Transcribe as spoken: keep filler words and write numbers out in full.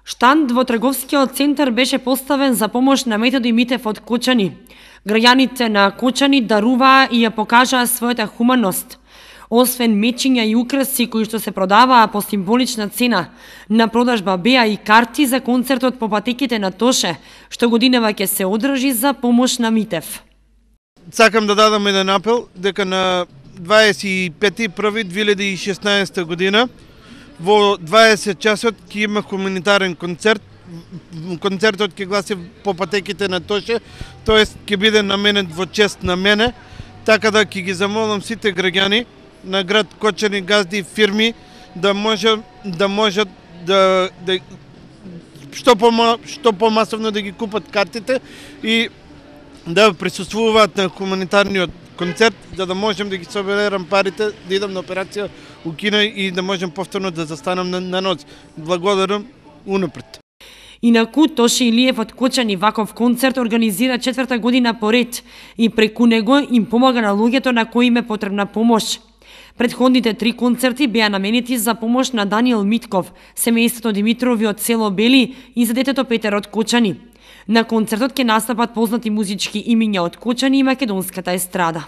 Штанд во трговскиот центар беше поставен за помош на Методи Митев од Кочани. Граѓаните на Кочани даруваа и ја покажаа својата хуманост. Освен мечиња и украси кои што се продаваа по символична цена, на продажба беа и карти за концертот по патеките на Тоше, што годинава ќе се одржи за помош на Митев. Сакам да дадам еден апел дека на дваесет и пети први две илјади и шеснаесета година во дваесет часот ќе има хуманитарен концерт. Концертот ќе гласи по патеките на Тоше, тоест ќе биде наменет во чест на мене, така да ќе ги замолам сите граѓани на град Кочани, газди, фирми да може да можат да, да што по што помасовно да ги купат картите и да присуствуваат на хуманитарниот концерт, за да можем да ги соберам парите, да идам на операција у Кина и да можем повторно да застанам на, на ноги. Благодарам унапред. Инаку Тоше Илиев од Кочани ваков концерт организира четврта година поред и преку него им помага на луѓето на кои им е потребна помош. Предходните три концерти беа наменети за помош на Даниел Митков, семејството Димитрови од село Бели и за детето Петер од Кочани. На концертот ќе настапат познати музички имиња од Кочани и македонската естрада.